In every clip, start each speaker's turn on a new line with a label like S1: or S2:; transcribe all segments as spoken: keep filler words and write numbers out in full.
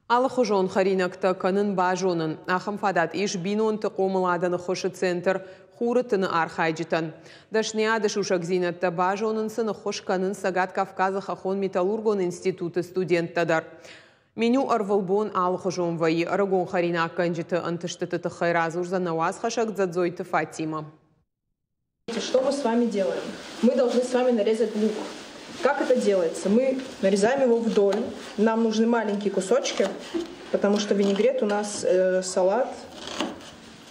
S1: Алыхуызон хӕринӕгтӕ кӕнын базонын. Ахӕм фадат ис бинонты хъомыладӕн ӕххуысы центр «Хуры тын-ы» архайджытӕн. Дӕсныйады сусӕгдзинӕдтӕ базонын сын ӕххуыс кӕнынц Цӕгат Кавказы хӕххон-металлургон институты студенттӕ дӕр. Меню ӕрвылбон алыхуызон вӕййы. Ӕрыгон хӕринаггӕнджыты ӕнтыстыты тыххӕй радзурдзӕн нӕ уацхӕссӕг Дзӕдзойты Фатимӕ.
S2: Что мы с вами делаем? Мы должны с вами нарезать лук. Как это делается? Мы нарезаем его вдоль. Нам нужны маленькие кусочки, потому что винегрет у нас э, салат,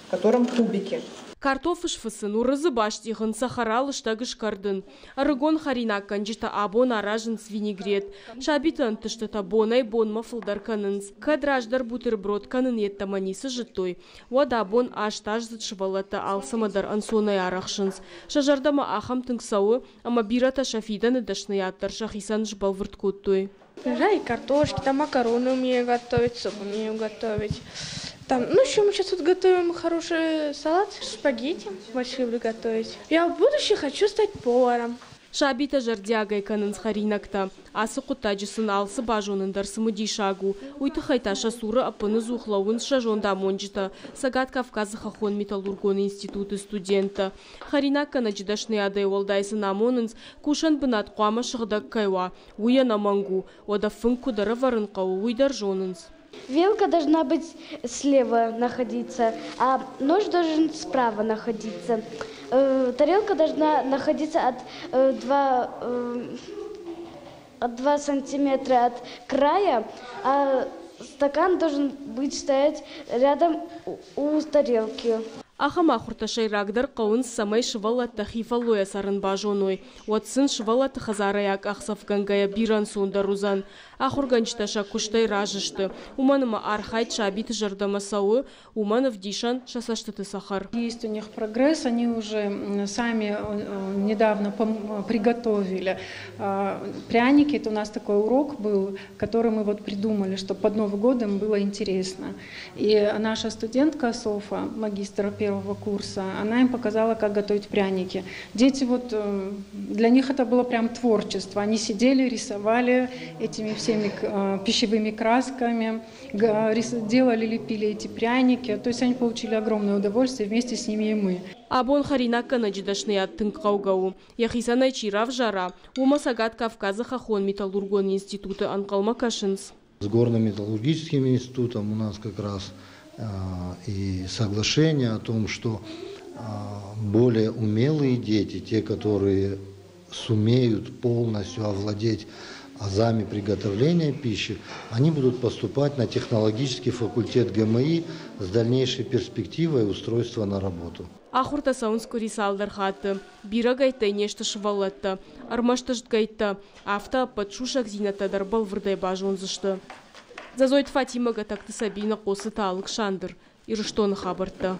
S2: в котором кубики.
S3: Картоф сфыцын, уырыдзы бастигъын, цӕхӕра лыстӕг скӕрдын. Ӕрыгон хӕринаггӕнджытӕ абон аразынц винегрет. Сабиты ӕнтыстытӕ бонӕй-бонмӕ фылдӕр кӕнынц. Кӕд раздӕр бутерброд кӕнын йеддӕмӕ ницы зыдтой, уӕд абон астаздзыд сывӕллӕттӕ алцӕмӕ дӕр ӕнцонӕй арӕхсынц. Сӕ зӕрдӕмӕ ахӕм тынг цӕуы, ӕмӕ бирӕтӕ сӕ фидӕны дӕсныйад дӕр сӕхицӕн сбӕлвырд кодтой.
S4: Да, и картошки, там макароны умею готовить, суп умею готовить. Там, ну, еще мы сейчас вот готовим хороший салат, спагетти больше люблю готовить. Я в будущем хочу стать поваром.
S3: Сабитӕ зӕрдиагӕй кӕнынц хӕринӕгтӕ. Ацы хъуыддаджы сын алцы базонын дӕр цымыдисаг у. Уый тыххӕй та сӕ цуры ӕппыныдзух лӕууынц сӕ зондамонджытӕ, Цӕгат Кавказы хӕххон-металлургон институты студенттӕ. Хӕринаггӕнӕджы дӕсныйадӕй уӕлдай сын амонынц, кусӕн бынат хъуамӕ сыгъдӕг кӕй уа, уый ӕнӕмӕнг у. Уӕдӕ фынг куыд ӕрӕвӕрын хъӕуы, уый дӕр зонынц.
S5: Вилка должна быть слева находиться, а нож должен справа находиться. Э, тарелка должна находиться от два, э, от два сантиметра от края, а стакан должен быть стоять рядом у тарелки.
S3: Ахӕм ахуыртӕ сӕйрагдӕр хъӕуынц, цӕмӕй сывӕллӕттӕ хи фӕллойӕ цӕрын базоной. Уӕд сын сывӕллӕтты хӕдзарӕй акъахдзӕфгӕнгӕйӕ бирӕ ӕнцондӕр уыдзӕн. Ахуыргӕнджытӕ сӕ куыстӕй разы сты. Уымӕн ӕмӕ архайд сабиты зӕрдӕмӕ цӕуы, уымӕн ӕвдисӕн сӕ цӕстыты цӕхӕр.
S6: Есть у них прогресс, они уже сами недавно приготовили пряники. Это у нас такой урок был, который мы вот придумали, чтобы под Новый год им было интересно. И наша студентка Софа, магистр первого курса, она им показала, как готовить пряники. Дети вот, для них это было прям творчество. Они сидели, рисовали этими всеми пищевыми красками, делали, лепили эти пряники. То есть они получили огромное удовольствие, вместе с ними и мы.
S3: Абон хӕринаггӕнӕджы дӕсныйад тынг хъӕугӕ у. Йӕхицӕн ӕй чи равзара, уымӕ Цӕгат Кавказы хӕххон-металлургон институты ӕнхъӕлмӕ кӕсынц.
S7: С горно-металлургическим институтом у нас как раз и соглашение о том, что более умелые дети, те, которые сумеют полностью овладеть азами приготовления пищи, они будут поступать на технологический факультет гэ эм и с дальнейшей перспективой устройства на работу.
S3: Ахуыртӕ цӕуынц къуыри цалдӕр хатты. Бирӕгӕйттӕй не сты сывӕллӕттӕ, ӕрмӕст ӕстгӕйттӕ. Афтӕ ӕппӕт сусӕгдзинӕдтӕ дӕр бӕлвырдӕй базондзысты. Дзӕдзойты Фатимӕ, Гӕтӕгты Сабина, Хъоцыты Алыксандр. Ирыстоны хабӕрттӕ.